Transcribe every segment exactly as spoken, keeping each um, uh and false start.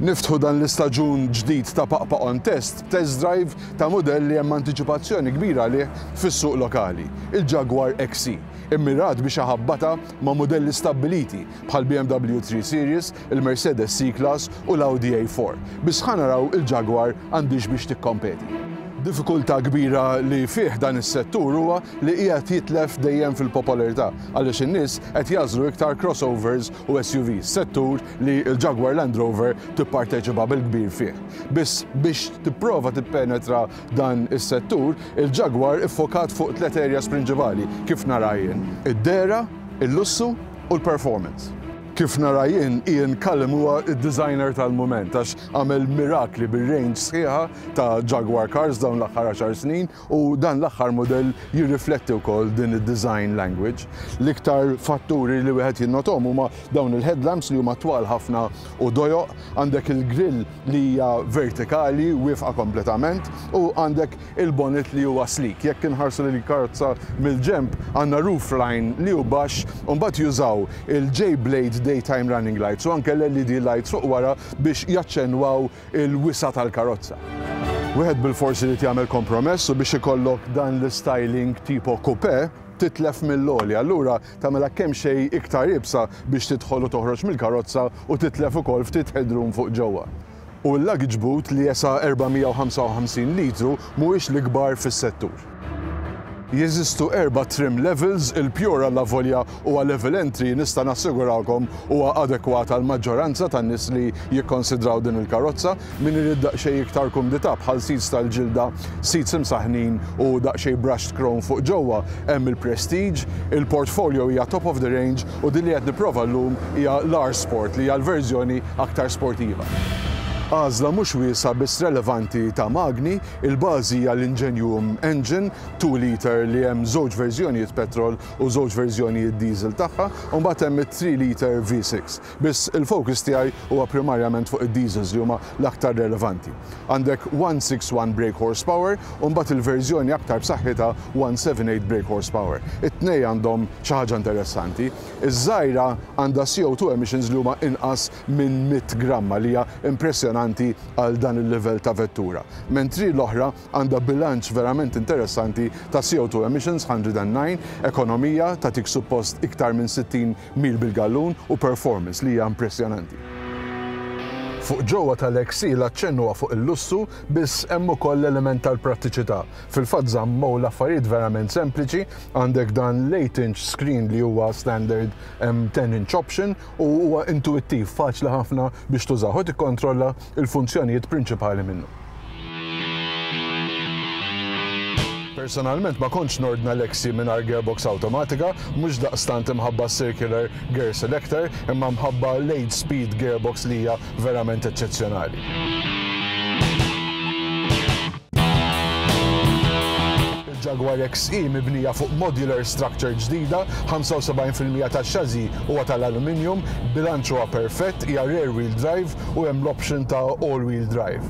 Niftħu dan l-istaġun ġdid ta' Paqpaq on Test, test drive ta' modell li hemm antiċipazzjoni kbira għalih fis-suq lokali, il-Jaguar X E, immirat biex iħabbatha ma' modelli stabbiliti bħal B M W three Series, il-Mercedes C-Class u l-Audi A four. Biss ħa naraw il-Jaguar għandhiex biex tikkompeti. Diffikultà kbira li fih dan is-settur huwa li qiegħed jitlef dejjem fil-popolarità għaliex in-nies qed jagħżlu iktar crossovers u S U Vs, settur li l-Jaguar Land Rover tipparteċipa bil-kbir fih. Biss biex tipprova tippenetra dan is-settur, il-Jaguar iffokat fuq tliet areas prinċipali kif nara jien: id-dehra, il-lussu u l-performance. Kif nara jien, Ian Callum huwa id-designer tal-moment għax għamel mirakli bil-range sħiħa ta' Jaguar Cars dawn l-aħħar għaxar snin u dan l-aħħar modell jirrifletti wkoll din id-design language. L-iktar fatturi li wieħed jinnotom huma dawn il-headlamps li huma twal ħafna u dojoq, għandek il-grill li hija vertikali, wieqfa kompletament, u għandek il-bonnet li huwa sleek. Jekk inħarsu lil karozza mill-ġemp, għandna roof line li hu baxx u mbagħad jużaw il-J-Blade daytime running lights u anke l-L E D lights fuq wara biex jaċċenwaw il-wisa tal-karozza. Wieħed bil-forsi li jagħmel kompromess u biex ikollok dan l-styling tipo coupe titlef mill-għoli. Allura tagħmilha kemm xejn iktar iebsa biex tidħol u toħroġ mill-karozza u titlef ukoll ftit headroom fuq ġewwa. U l-luggage boot li jesa' erba' mija u ħamsa u ħamsin litru mhuwiex l-ikbar fis-settur. Jeżistu erba' trim levels, il-Pure avolja huwa level entry, nista' nassigurawkom huwa adekwat għal maġġoranza tan-nies li jikkonsidraw din il-karozza. Min irid daqsxejn iktar kumdità bħal seats tal-ġilda, seats imsaħnin u daqsxejn brushed chrome fuq ġewwa, hemm il-Prestige, il-Portfolio hija top of the range u din li qed nipprova llum hija l-R Sport, li hija l-verżjoni aktar sportiva. Għażla mhux wiesa biss relevanti ta' magni, il-bażi hija l-Ingenium Engine two liter li hemm żewġ verżjonijiet petrol u żewġ verżjonijiet diesel tagħha, u mbagħad hemm it-three liter V six. Biss il-focus tiegħi huwa primarjament fuq id-diesels li huma l-aktar relevanti. Għandek one six one brake horsepower u mbagħad il-verżjoni aktar b'saħħitha one seven eight brake horsepower. It-tnej għandhom xi ħaġa interessanti. Iż-żgħira għandha C O two emissions li huma inqas minn mitt gramma, li hija impressjonanti għal dan il-level ta' vettura. Mentri l-oħra għandha bilanċ verament interessanti ta' C O two emissions one hundred and nine, ekonomija ta' tik suppost iktar minn sittin mil bil-gallun u performance li hija impressjonanti. Fuq ġewwa tal-X E l-aċċennu fuq il-lussu, biss hemm ukoll l-element tal-prattiċità. Fil-fatt żammew l-affarijiet verament sempliċi, għandek dan l-eight inch screen li huwa standard ten inch option u huwa intuittiv, faċli ħafna biex tużaw u tikkontrolla il-funzjonijiet prinċipali minnu. Personalment ma kontx nordna l-X E mingħajr gearbox automatika, mhux daqstant imħabba circular gear selector, imma mħabba l-eight speed gearbox li hija verament eċċezzjonali. Il-Jaguar X E mibnija fuq modular structure ġdida, ħamsa u sebgħin fil-mija tax-chassis huwa tal-aluminium, bilanċ huwa perfett, hija rear wheel drive u hemm l-option ta' all wheel drive.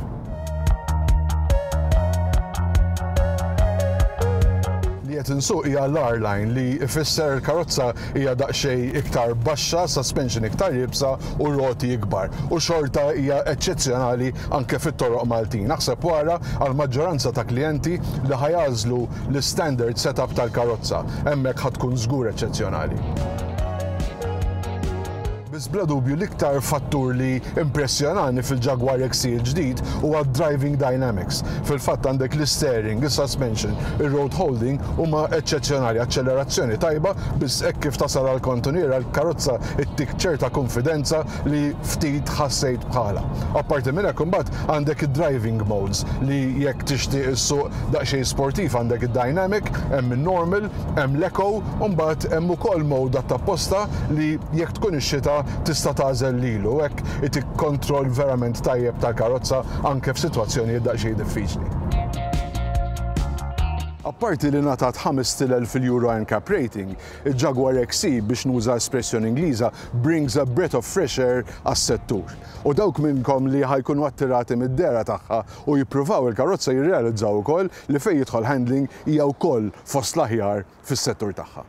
Li qed insuq hija l-R-Line, li ifisser il-karozza hija daqsxejn iktar baxxa, suspension iktar iebsa u roti ikbar. U xorta hija eċċezzjonali anke fit-toroq Maltin. Naħseb wara għal maġġoranza ta' klijenti li ħa jagħżlu l-standard setup tal-karozza. Hemmhekk ħa tkun żgur eċċezzjonali. Biss bla dubju l-iktar fattur li impressjonani fil-Jaguar X E l-ġdid huwa driving dynamics. Fil-fatt għandek l-steering, il-suspension, il-road holding huma eċċezzjonali, accelerazzjoni tajba, biss hekk kif tasal għal kantuniera l-karozza ittik ċerta konfidenza li ftit ħassejt bħala. Apparti minn hekk, imbagħad għandek id-driving modes li jekk tixtieq issuq daqsxejn sportiv għandek id-dynamic, hemm il-normal, hemm l-eco, u mbagħad hemm ukoll mode apposta li jekk tkun ix-xita tista' tagħżel lilu, hekk itik kontroll verament tajjeb tal-karozza anke f'sitwazzjonijiet daqsxejn diffiċli. Apparti li ngħatat ħamest elef fil-Euro NCAP rating, il-Jaguar X E, biex nuża espressjoni Ingliża, brings a breath of fresh air għas-settur. U dawk minnkom li ħa jkunu attirati mid-dehra tagħha u jippruvaw il-karozza jirrealizzaw ukoll li fejn jidħol handling hija wkoll fost l-aħjar fis-settur tagħha.